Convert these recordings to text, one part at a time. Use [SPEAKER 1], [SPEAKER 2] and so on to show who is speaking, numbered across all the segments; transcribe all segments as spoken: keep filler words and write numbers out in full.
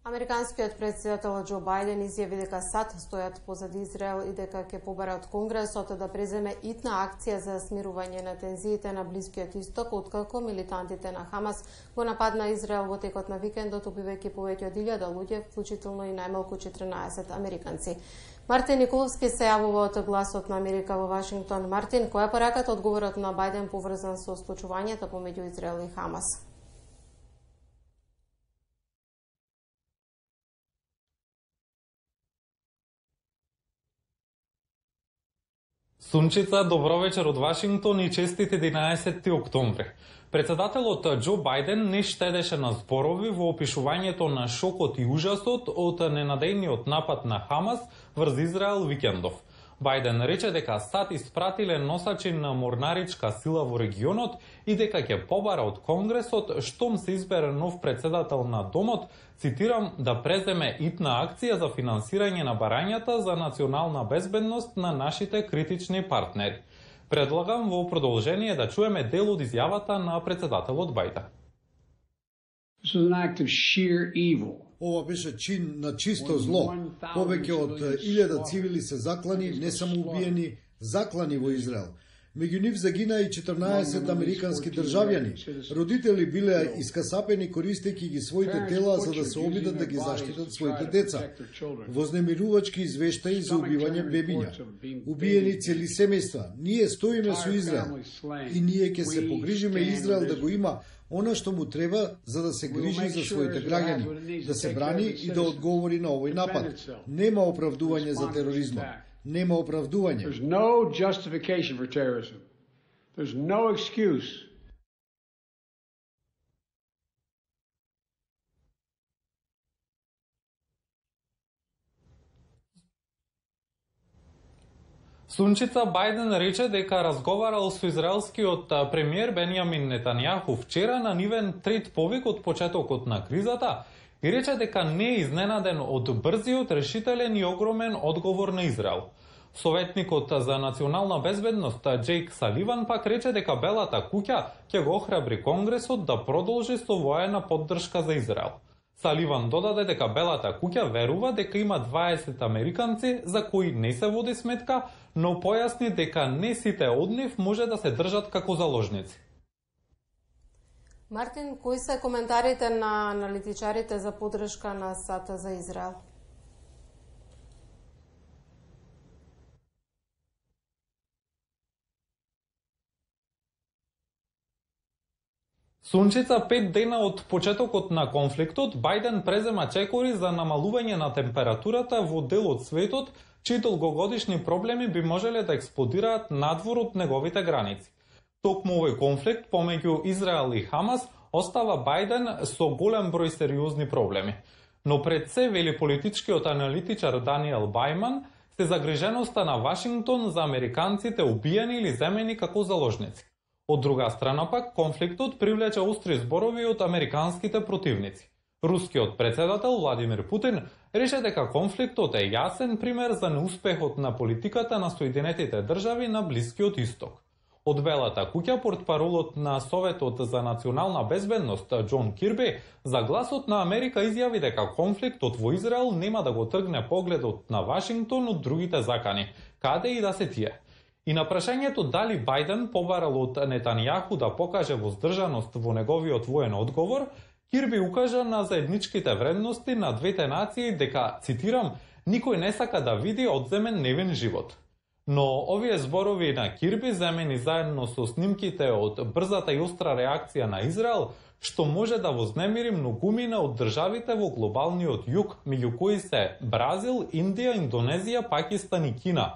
[SPEAKER 1] Американскиот претседател Џо Бајден изјави дека САД стојат позади Израел и дека ќе побара од Конгресот да преземе итна акција за смирување на тензиите на Блискиот Исток, откако милитантите на Хамас го нападна Израел во текот на викендот, убивајќи повеќе од илјада луѓе, вклучително и најмалку четрнаесет американци. Мартин Николовски се јавува од Гласот на Америка во Вашингтон. Мартин, која е пораката одговорот на Бајден поврзан со случувањето помеѓу Израел и Хамас?
[SPEAKER 2] Сунчица, добро вечер од Вашингтон и честит единаесетти октомври. Председателот Џо Бајден не штедеше на зборови во опишувањето на шокот и ужасот од ненадејниот напад на Хамас врз Израел викендов. Бајден рече дека САД испратиле носачи на морнаричка сила во регионот и дека ќе побара од Конгресот штом се избере нов председател на Домот, цитирам, да преземе итна акција за финансирање на барањата за национална безбедност на нашите критични партнери. Предлагам во продолжение да чуеме дел од изјавата на председателот Бајден.
[SPEAKER 3] This was an act of sheer evil.
[SPEAKER 4] Ова беше чин на чисто зло. Повеќе од илјада цивили се заклани, не само убиени, заклани во Израел. Меѓу нив загина и четрнаесет американски државјани. Родители биле искасапени користејќи ги своите тела за да се обидат да ги заштитат своите деца. Вознемирувачки извештаи за убивање бебиња. Убиени цели семејства. Ние стоиме со Израел и ние ќе се погрижиме Израел да го има она што му треба за да се грижи за своите граѓани, да се брани и да одговори на овој напад. Нема оправдување за тероризмот. Нема оправдување.
[SPEAKER 3] There's no justification for terrorism. There's no excuse.
[SPEAKER 2] Сунчица, Бајден рече дека разговарал со израелскиот премиер Бенјамин Нетањаху вчера на нивен трет повик од почетокот на кризата и рече дека не е изненаден од брзиот, решителен и огромен одговор на Израел. Советникот за национална безбедност Џејк Саливан пак рече дека Белата куќа ќе го охрабри Конгресот да продолжи со воена поддршка за Израел. Саливан додаде дека Белата куќа верува дека има дваесет американци за кои не се води сметка, но појасни дека не сите од нив може да се држат како заложници.
[SPEAKER 1] Мартин, кои се коментарите на аналитичарите за поддршка на САД за Израел?
[SPEAKER 2] Сунчица, пет дена од почетокот на конфликтот, Бајден презема чекори за намалување на температурата во дел од светот, чии долгогодишни проблеми би можеле да експлодираат надвор од неговите граници. Токму овој конфликт помеѓу Израел и Хамас остава Бајден со голем број сериозни проблеми. Но пред се, вели политичкиот аналитичар Даниел Бајман, се загриженоста на Вашингтон за американците убиени или земени како заложници. Од друга страна пак, конфликтот привлече остри зборови од американските противници. Рускиот председател Владимир Путин рече дека конфликтот е јасен пример за неуспехот на политиката на Соединетите држави на Блискиот Исток. Од Белата куќа, портпаролот на Советот за национална безбедност Џон Кирби за Гласот на Америка изјави дека конфликтот во Израел нема да го тргне погледот на Вашингтон од другите закани, каде и да се тие. И на прашањето дали Бајден побарал од Нетањаху да покаже воздржаност во неговиот воен одговор, Кирби укажа на заедничките вредности на двете нации дека, цитирам, никој не сака да види одземен невин живот. Но овие зборови на Кирби, земени заедно со снимките од брзата и остра реакција на Израел, што може да вознемири многумина од државите во глобалниот југ, меѓу кои се Бразил, Индија, Индонезија, Пакистан и Кина,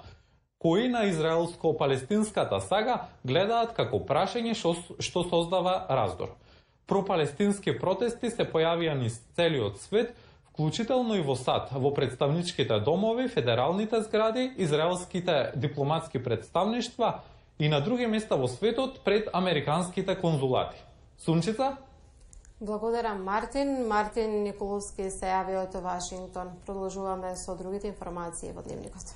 [SPEAKER 2] кои на израелско-палестинската сага гледаат како прашање што, што создава раздор. Пропалестински протести се појавија низ целиот свет, вклучително и во САД, во представничките домови, федералните згради, израелските дипломатски представништва и на други места во светот пред американските конзулати. Сунчица?
[SPEAKER 1] Благодарам, Мартин. Мартин Николовски се јави од Вашингтон. Продолжуваме со другите информации во Дневникот.